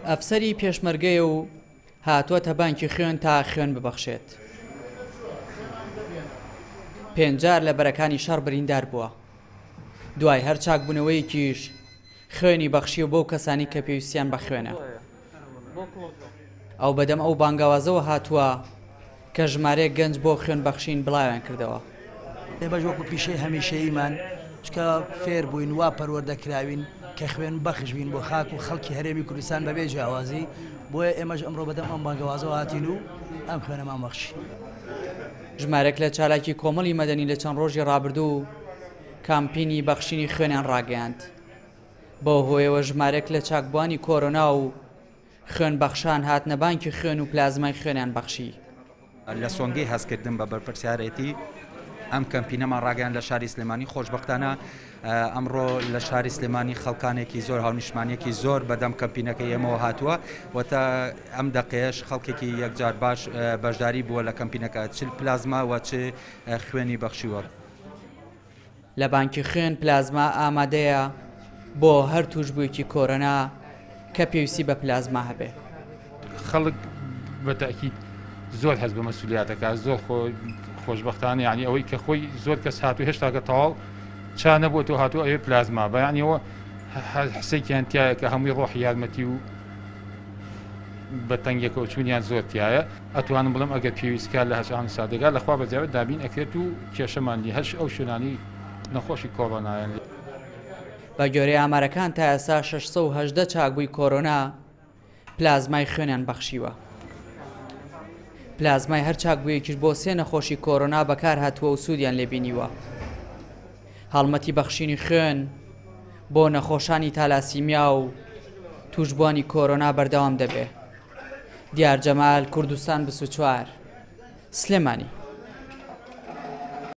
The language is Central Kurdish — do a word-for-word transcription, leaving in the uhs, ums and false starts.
ئەفسەری پێشمەرگەیە و هاتووەتە بانکی خوێن تا خوێن ببەخشێت. پێنج جار لە بەرەکانی شەڕ بریندار بووە. دوای هەر چاکبوونەوەیەکیش خوێنی بەخشیوە بەو کەسانی کە پێویستیان بە خوێنە. ئەو بەدەم ئەو بانگەوازەوە هاتووە کە ژمارەیەک گەنج بۆ خوێن بەخشین بڵاویان کردەوە. ئێمەش وەکو پیشەی هەمیشەییمان چکە فێر بووین وا پەروەردە کراوین کە خوێن بەخش بین بۆ خاک و خەڵکی هەرێمی کوردستان بەبێ جیاوازی، بۆیە ئێمەش ئەمڕۆ بەدەم ئەم بانگەوازەوە هاتین و ئەم خوێنەمان بەخشی. ژمارەک لە چالاکی کۆمەڵی مەدەنی لە چەند ڕۆژی ڕابردوو کامپینی بەخشینی خوێنیان ڕاگەیاند. بەو هۆیەوە ژمارەک لە چاکبووانی کۆرۆنا و خوێن بەخشان هاتنە بانکی خوێن و پلازمای خوێنیان بەخشی. لە سۆنگەی هەستکردن بە بەرپرسیارێتی ئەم کەمپینەمان ڕاگەیان لە شاری سلێمانی. خۆشبەختانە ئەمڕۆ لە شاری سلێمانی خەڵکانێکی زۆر هاونیشتمانیەکی زۆر بەدەم کەمپینەکەی ئێمەوە هاتووە و تا ئەم دەقەیەش خەڵکێکی یەکجار باش بەشداری بووە لە کەمپینەکە، چ پلازما و چ خوێنی بەخشیوە. لە بانکی خوێن پلازما ئامادەیە بۆ هەر توشبوویەکی کۆرۆنا کە پێویستی بە پلازما هەبێ. خەڵک بە تەئکید زۆر هەست بە مەسئولیاتەکە، زۆر خۆشبەختانە، یعنی ئەوەی کە خۆی زۆر کەس هاتوو هێشتاکە تەواو چا نەبووە تۆ هاتوو ئەوێ پلازما بە، یعنی ئەوە حسێکیان تایە کە هەمووی ڕۆحی یارمەتی و بە تەنگێکەوە چوونیان زۆر تایە. ئەتوانم بڵێم ئەگەر پێویستکار لە هەشان سادەگا لەخوا بەزیاوە دابین ئەکرێت و کێشەمان نیە، هەش ئەو شوێنانی نەخۆشی کۆرۆنایان. بە گوێرەی ئامارەکان تا ئێستا شەش سەد و هەژدە چاکبووی کۆرۆنا پلازمای خوێنیان بەخشیوە. پلازمای هەر چاکبوویەکیش بۆ سێ نەخۆشی کۆرۆنا بەکار هاتووە و سوودیان لێبینیوە. هەڵمەتی بەخشینی خوێن بۆ نەخۆشانی تالاسیمیا و توشبووانی کۆرۆنا بەردەوام دەبێ. دیار جەمال، کوردستان بیست و چوار، سلێمانی.